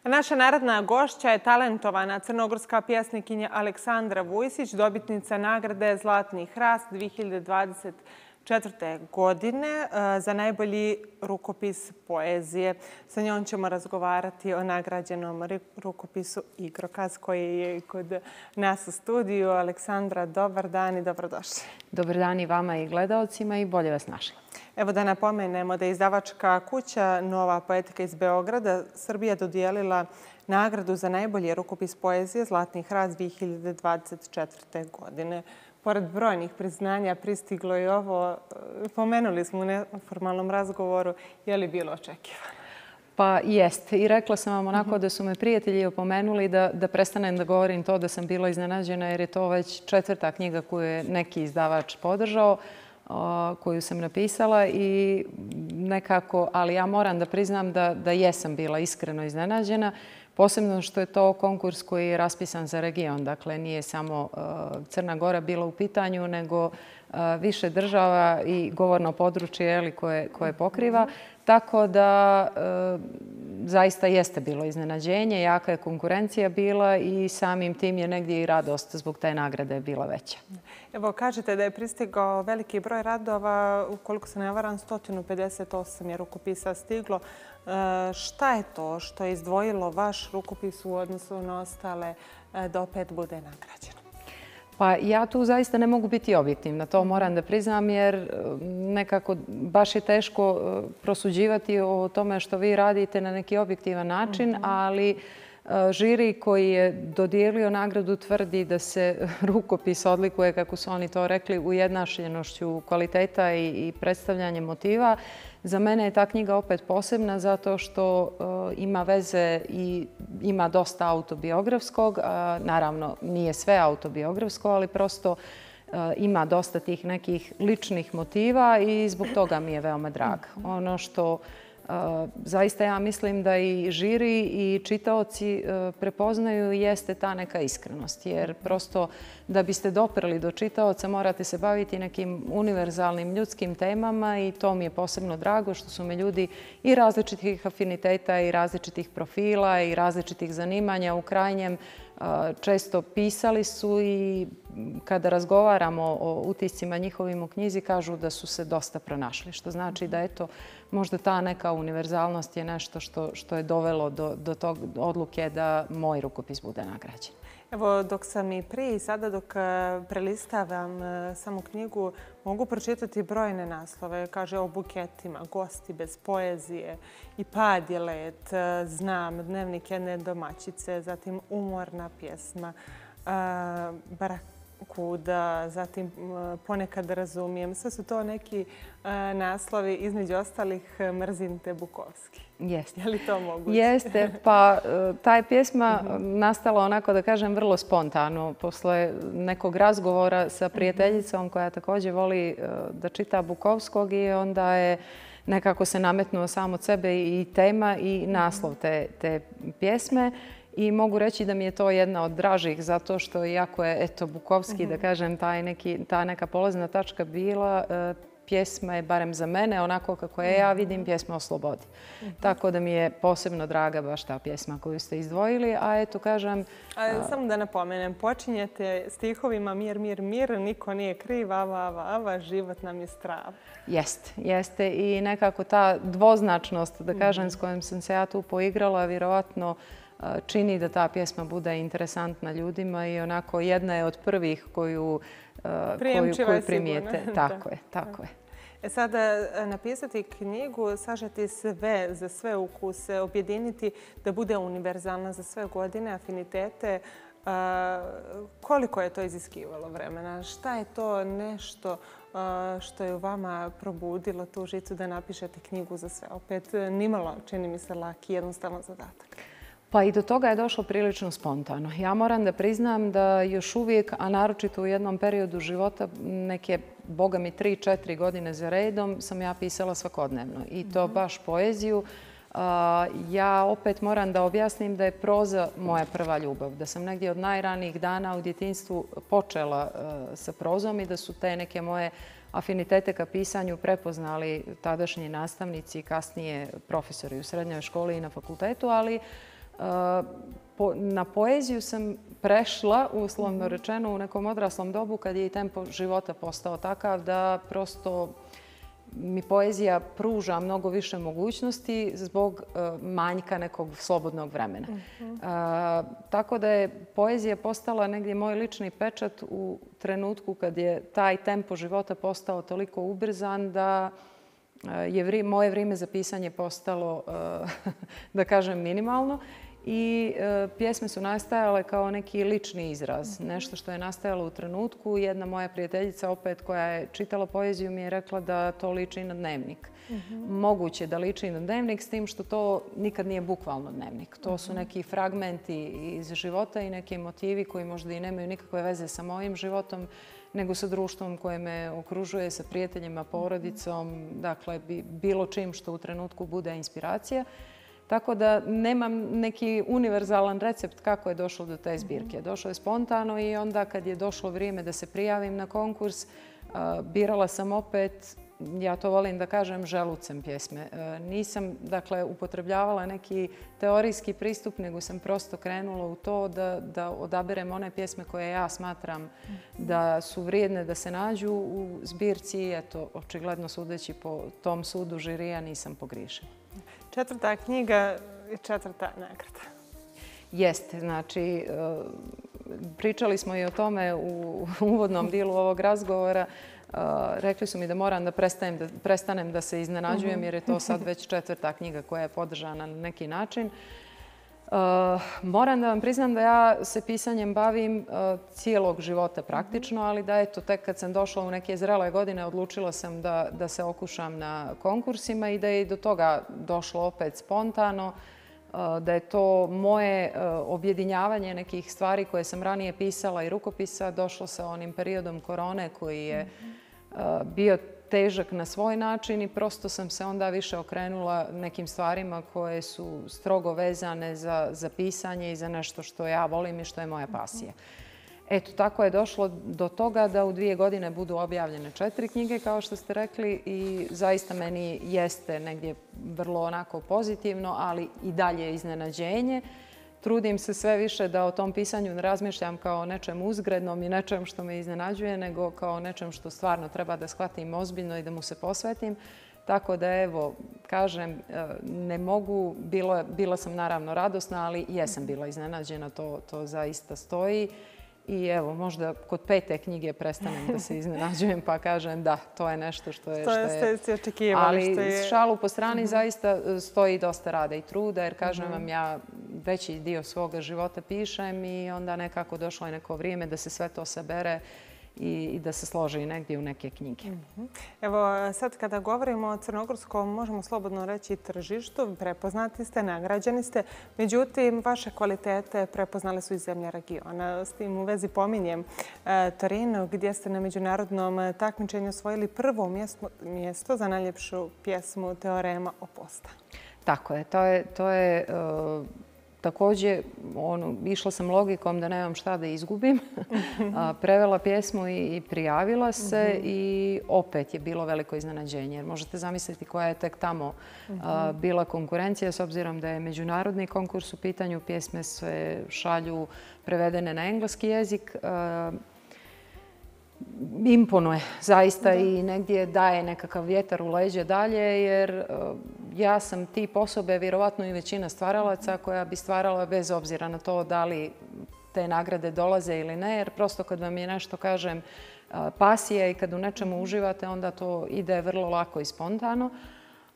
Naša narodna gošća je talentovana crnogorska pjesnikinja Aleksandra Vujsić, dobitnica nagrade Zlatni hrast 2024. godine za najbolji rukopis poezije. Sa njom ćemo razgovarati o nagrađenom rukopisu Igrokaz koji je kod nas u studiju. Aleksandra, dobar dan i dobrodošli. Dobar dan i vama i gledaocima i bolje vas našla. Evo da napomenemo da je izdavačka kuća Nova poetika iz Beograda Srbija dodijelila nagradu za najbolji rukopis poezije Zlatni hrast 2024. godine. Pored brojnih priznanja pristiglo je ovo, pomenuli smo u neformalnom razgovoru, je li bilo očekivano? Pa jeste. I rekla sam vam onako da su me prijatelji opomenuli da prestanem da govorim to da sam bila iznenađena jer je to već 4. knjiga koju je neki izdavač podržao, koju sam napisala i nekako, ali ja moram da priznam da jesam bila iskreno iznenađena. Posebno što je to konkurs koji je raspisan za region. Dakle, nije samo Crna Gora bila u pitanju, nego više država i govorno područje koje pokriva. Tako da zaista jeste bilo iznenađenje, jaka je konkurencija bila i samim tim je negdje i radost zbog te nagrade bila veća. Evo, kažete da je pristigao veliki broj radova, ukoliko se ne varam, 158 je rukopisa stiglo. Šta je to što je izdvojilo vaš rukopis u odnosu na ostale da opet bude nagrađeno? Pa ja tu zaista ne mogu biti objektivna, to moram da priznam jer nekako baš je teško prosuđivati o tome što vi radite na neki objektivan način, ali žiri koji je dodijelio nagradu tvrdi da se rukopis odlikuje, kako su oni to rekli, ujednačenošću kvaliteta i predstavljanje motiva. Za mene je ta knjiga opet posebna zato što ima veze i ima dosta autobiografskog. Naravno, nije sve autobiografsko, ali prosto ima dosta tih nekih ličnih motiva i zbog toga mi je veoma draga. Ono što zaista ja mislim da i žiri i čitaoci prepoznaju jeste ta neka iskrenost. Jer prosto da biste doprli do čitaoca morate se baviti nekim univerzalnim ljudskim temama i to mi je posebno drago što su me ljudi i različitih afiniteta i različitih profila i različitih zanimanja u krajnjem često pisali su i kada razgovaramo o utiscima njihovim u knjizi kažu da su se dosta pronašli. Što znači da eto, možda ta neka univerzalnost je nešto što je dovelo do tog odluke da moj rukopis bude nagrađen. Evo, dok sam i prije i sada dok prelistavam samu knjigu, mogu pročitati brojne naslove. Kaže o buketima, gosti bez poezije i pad je let, znam, dnevnik jedne domaćice, zatim umorna pjesma, barakuda, zatim ponekad razumijem. Sve su to neki naslovi, između ostalih Mrzim te Bukovski. Jeste. Je li to moguće? Jeste, pa ta je pjesma nastala onako da kažem vrlo spontano. Posle nekog razgovora sa prijateljicom koja također voli da čita Bukovskog i onda je nekako se nametnuo sam od sebe i tema i naslov te pjesme. I mogu reći da mi je to jedna od dražih zato što iako je eto Bukovski, da kažem, ta neka polazna tačka bila, pjesma je, barem za mene, onako kako je ja vidim, pjesma o slobodi. Tako da mi je posebno draga baš ta pjesma koju ste izdvojili, a eto kažem... Samo da napomenem, počinjete stihovima mir, mir, mir, niko nije kriv, ava, život nam je strava. Jeste i nekako ta dvoznačnost, da kažem, s kojom sam se ja tu poigrala, vjerovatno čini da ta pjesma bude interesantna ljudima i onako jedna je od prvih koju primijete. Tako je. Sada napisati knjigu, sažeti sve za sve ukuse, objediniti da bude univerzalna za sve godine, afinitete. Koliko je to iziskivalo vremena? Šta je to nešto što je u vama probudilo tu žicu da napišete knjigu za sve? Opet nimalo, čini mi se, laki, jednostavan zadatak. Pa i do toga je došlo prilično spontano. Ja moram da priznam da još uvijek, a naročito u jednom periodu života, neke, boga mi 3-4 godine za redom, sam ja pisala svakodnevno. I to baš poeziju. Ja opet moram da objasnim da je proza moja prva ljubav. Da sam negdje od najranijih dana u djetinjstvu počela sa prozom i da su te neke moje afinitete ka pisanju prepoznali tadašnji nastavnici i kasnije profesori u srednjoj školi i na fakultetu, ali Na poeziju sam prešla, uslovno rečeno, u nekom odraslom dobu kad je i tempo života postao takav da prosto mi poezija pruža mnogo više mogućnosti zbog manjka nekog slobodnog vremena. Tako da je poezija postala negdje moj lični pečat u trenutku kad je taj tempo života postao toliko ubrzan da je moje vrijeme za pisanje postalo, da kažem, minimalno. I pjesme su nastajale kao neki lični izraz. Nešto što je nastajalo u trenutku. Jedna moja prijateljica opet koja je čitala poeziju mi je rekla da to liči na dnevnik. Moguće da liči na dnevnik s tim što to nikad nije bukvalno dnevnik. To su neki fragmenti iz života i neki motivi koji možda i nemaju nikakve veze sa mojim životom, nego sa društvom koje me okružuje, sa prijateljima, porodicom, dakle bilo čim što u trenutku bude inspiracija. Tako da nemam neki univerzalan recept kako je došlo do te zbirke. Došlo je spontano i onda kad je došlo vrijeme da se prijavim na konkurs, birala sam opet, ja to volim da kažem, želucem pjesme. Nisam, dakle, upotrebljavala neki teorijski pristup, nego sam prosto krenula u to da odaberem one pjesme koje ja smatram da su vrijedne da se nađu u zbirci. Eto, očigledno sudeći po tom sudu žirija nisam pogriješila. 4. knjiga i 4. nagrada. Jeste, znači pričali smo i o tome u uvodnom dijelu ovog razgovora. Rekli su mi da moram da prestanem da se iznenađujem jer je to sad već 4. knjiga koja je podržana na neki način. Moram da vam priznam da ja se pisanjem bavim cijelog života praktično, ali da eto, tek kad sam došla u neke zrele godine odlučila sam da se okušam na konkursima i da je i do toga došlo opet spontano, da je to moje objedinjavanje nekih stvari koje sam ranije pisala i rukopisa došlo sa onim periodom korone koji je bio težak na svoj način i prosto sam se onda više okrenula nekim stvarima koje su strogo vezane za pisanje i za nešto što ja volim i što je moja pasija. Eto, tako je došlo do toga da u 2 godine budu objavljene 4 knjige, kao što ste rekli, i zaista meni jeste negdje vrlo onako pozitivno, ali i dalje iznenađenje. Trudim se sve više da o tom pisanju ne razmišljam kao o nečem uzgrednom i nečem što me iznenađuje, nego kao nečem što stvarno treba da shvatim ozbiljno i da mu se posvetim. Tako da, evo, kažem, ne mogu, bila sam naravno radosna, ali jesam bila iznenađena, to zaista stoji. I evo, možda kod 5. knjige prestanem da se iznenađujem pa kažem da, to je nešto što je... ste očekivali. Ali šalu po strani zaista stoji dosta rada i truda jer kažem vam ja veći dio svoga života pišem i onda nekako došlo je neko vrijeme da se sve to sabere i da se složi negdje u neke knjige. Evo, sad kada govorimo o crnogorskom, možemo slobodno reći tržištu, prepoznati ste, nagrađeni ste. Međutim, vaše kvalitete prepoznale su i zemlje regiona. S tim u vezi pominjem Torino, gdje ste na međunarodnom takmičenju osvojili prvo mjesto za najljepšu pjesmu Teorema Oposta. Tako je. To je također, išla sam logikom da nemam šta da izgubim. Prevela pjesmu i prijavila se i opet je bilo veliko iznenađenje. Jer možete zamisliti koja je tek tamo bila konkurencija s obzirom da je međunarodni konkurs u pitanju. Pjesme se šalju prevedene na engleski jezik. Imponuje zaista i negdje daje nekakav vjetar u leđe dalje jer ja sam tip osobe, vjerovatno i većina stvaralaca koja bi stvarala bez obzira na to da li te nagrade dolaze ili ne, jer prosto kad vam je nešto, kažem, pasija i kad u nečemu uživate, onda to ide vrlo lako i spontano.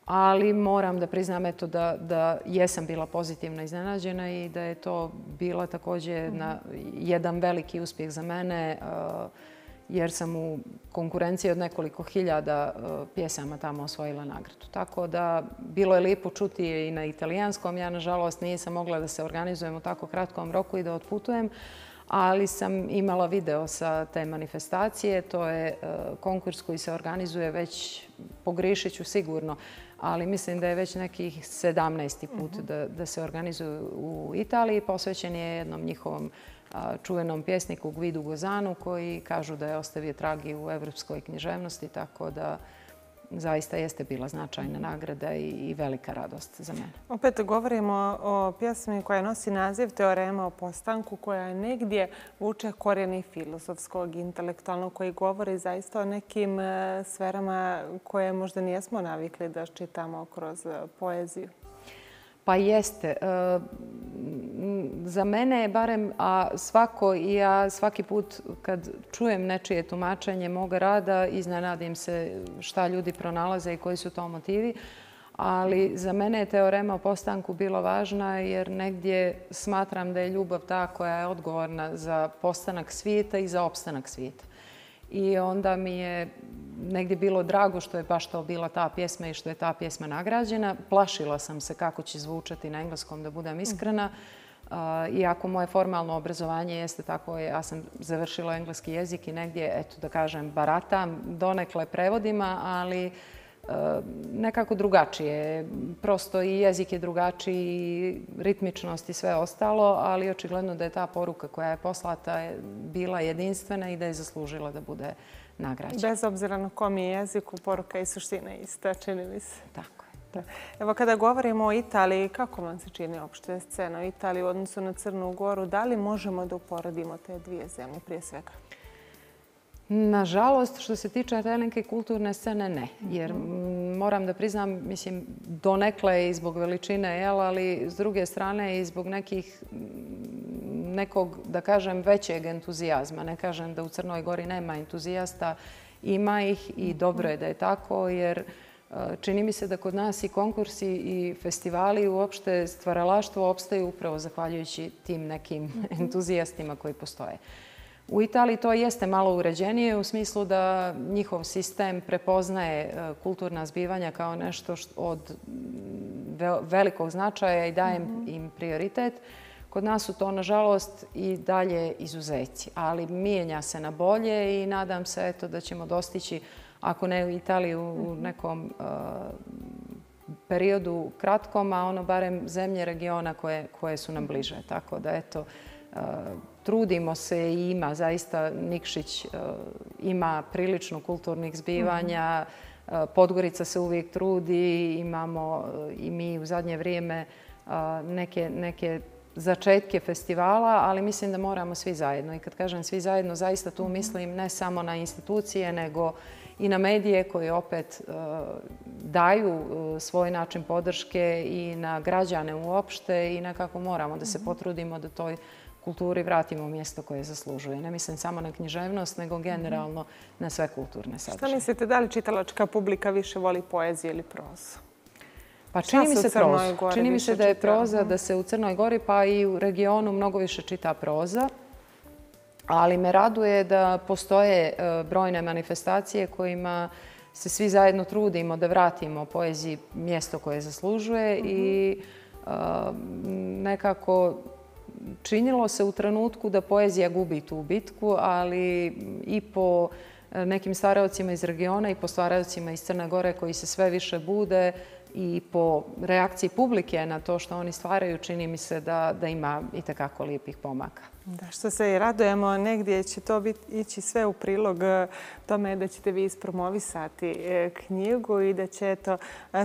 Ali moram da priznam eto da jesam bila pozitivno iznenađena i da je to bila također jedan veliki uspjeh za mene jer sam u konkurenciji od nekoliko hiljada pjesama tamo osvojila nagradu. Tako da bilo je lijepo čuti i na italijanskom. Ja, nažalost, nisam mogla da se organizujem u tako kratkom roku i da otputujem, ali sam imala video sa te manifestacije. To je konkurs koji se organizuje već, pogriješit ću sigurno, ali mislim da je već nekih 17. put da se organizuju u Italiji. Posvećen je jednom njihovom čuvenom pjesniku Guidu Gozanu koji kažu da je ostavio trag i u evropskoj književnosti, tako da zaista jeste bila značajna nagrada i velika radost za mene. Opet govorimo o pjesmi koja nosi naziv Teorema o postanku, koja negdje vuče korijeni filozofskog, intelektualnog, koji govori zaista o nekim sferama koje možda nijesmo navikli da čitamo kroz poeziju. Pa jeste. Za mene je barem, a ja svaki put kad čujem nečije tumačenje moga rada, iznenadim se šta ljudi pronalaze i koji su to motivi. Ali za mene je Teorema o postanku bila važna jer negdje smatram da je ljubav ta koja je odgovorna za postanak svijeta i za opstanak svijeta. I onda mi je negdje bilo drago što je baš to bila ta pjesma i što je ta pjesma nagrađena. Plašila sam se kako će zvučati na engleskom, da budem iskrena. Iako moje formalno obrazovanje jeste tako, ja sam završila engleski jezik i negdje, eto da kažem, baratam donekle prevodima, ali nekako drugačije. Prosto i jezik je drugačiji, ritmičnost i sve ostalo, ali očigledno da je ta poruka koja je poslata bila jedinstvena i da je zaslužila da bude nagrađena. Bez obzira na kom je jeziku, poruka i suština ista, čini mi se. Tako je. Evo, kada govorimo o Italiji, kako vam se čini opšte scena u Italiji u odnosu na Crnu Goru? Da li možemo da uporedimo te dvije zemlje prije svega? Nažalost, što se tiče te neke kulturne scene, ne. Jer moram da priznam, mislim, donekle i zbog veličine, ali s druge strane i zbog nekog, da kažem, većeg entuzijazma. Ne kažem da u Crnoj Gori nema entuzijasta, ima ih i dobro je da je tako, jer čini mi se da kod nas i konkursi i festivali i uopšte stvaralaštvo opstaju upravo zahvaljujući tim nekim entuzijastima koji postoje. U Italiji to jeste malo uređenije u smislu da njihov sistem prepoznaje kulturna zbivanja kao nešto od velikog značaja i daje im prioritet. Kod nas su to, nažalost, i dalje izuzeci, ali mijenja se na bolje i nadam se da ćemo dostići, ako ne u Italiji, u nekom periodu kratkom, a ono barem zemlje regiona koje su nam bliže. Tako da, eto, trudimo se i ima zaista, Nikšić ima prilično kulturnih zbivanja, Podgorica se uvijek trudi, imamo i mi u zadnje vrijeme neke začetke festivala, ali mislim da moramo svi zajedno. I kad kažem svi zajedno, zaista tu mislim ne samo na institucije, nego i na medije koji opet daju svoj način podrške i na građane uopšte i nekako moramo da se potrudimo da toj kulturi vratimo mjesto koje zaslužuje. Ne mislim samo na književnost, nego generalno na sve kulturne sadržaje. Šta mislite, da li čitalačka publika više voli poeziju ili prozu? Pa čini mi se prozu. Čini mi se da je proza, da se u Crnoj Gori pa i u regionu mnogo više čita proza. Ali me raduje da postoje brojne manifestacije kojima se svi zajedno trudimo da vratimo poeziji mjesto koje zaslužuje i nekako činilo se u trenutku da poezija gubi tu bitku, ali i po nekim stvaraocima iz regiona i po stvaraocima iz Crne Gore koji se sve više bude i po reakciji publike na to što oni stvaraju, čini mi se da ima itekako lijepih pomaka. Da, što se i radujemo, negdje će to ići sve u prilog tome da ćete vi ispromovisati knjigu i da će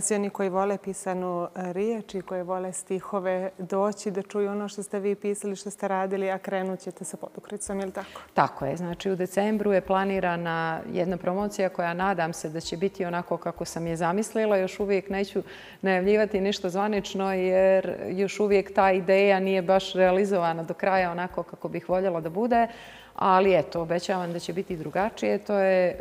svi oni koji vole pisanu riječ i koji vole stihove doći da čuju ono što ste vi pisali, što ste radili, a krenut ćete sa Podukricom, je li tako? Tako je. Znači, u decembru je planirana jedna promocija koja nadam se da će biti onako kako sam je zamislila. Još uvijek neću najavljivati ništa zvanično jer još uvijek ta ideja nije baš realizovana do kraja onako kako bih voljela da bude, ali eto, obećavam da će biti drugačije. To je,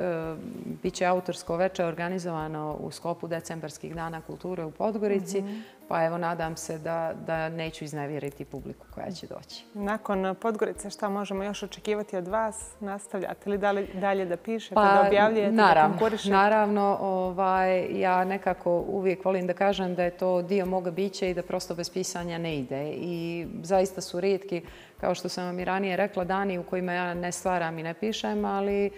bit će autorsko veče organizovano u sklopu decembarskih dana kulture u Podgorici, pa evo nadam se da neću iznevjeriti publiku koja će doći. Nakon Podgorice šta možemo još očekivati od vas? Nastavljate li dalje da pišete, da objavljujete, da konkurišete? Naravno, ja nekako uvijek volim da kažem da je to dio moga bića i da prosto bez pisanja ne ide. I zaista su rijetki, kao što sam vam i ranije rekla, dani u kojima ja ne stvaram i ne pišem, ali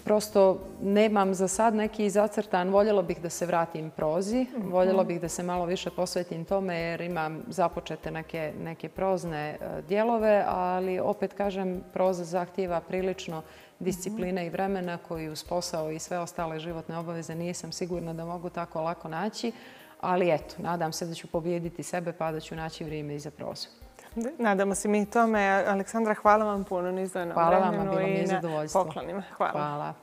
Prosto nemam za sad neki zacrtan. Voljela bih da se vratim prozi. Voljela bih da se malo više posvetim tome jer imam započete neke prozne dijelove, ali opet kažem, proza zahtijeva prilično discipline i vremena koji uz posao i sve ostale životne obaveze nisam sigurna da mogu tako lako naći. Ali eto, nadam se da ću pobijediti sebe pa da ću naći vrijeme i za prozu. Nadamo se mi tome. Aleksandra, hvala vam puno na izdvojenom vremenu i na poklonima. Hvala.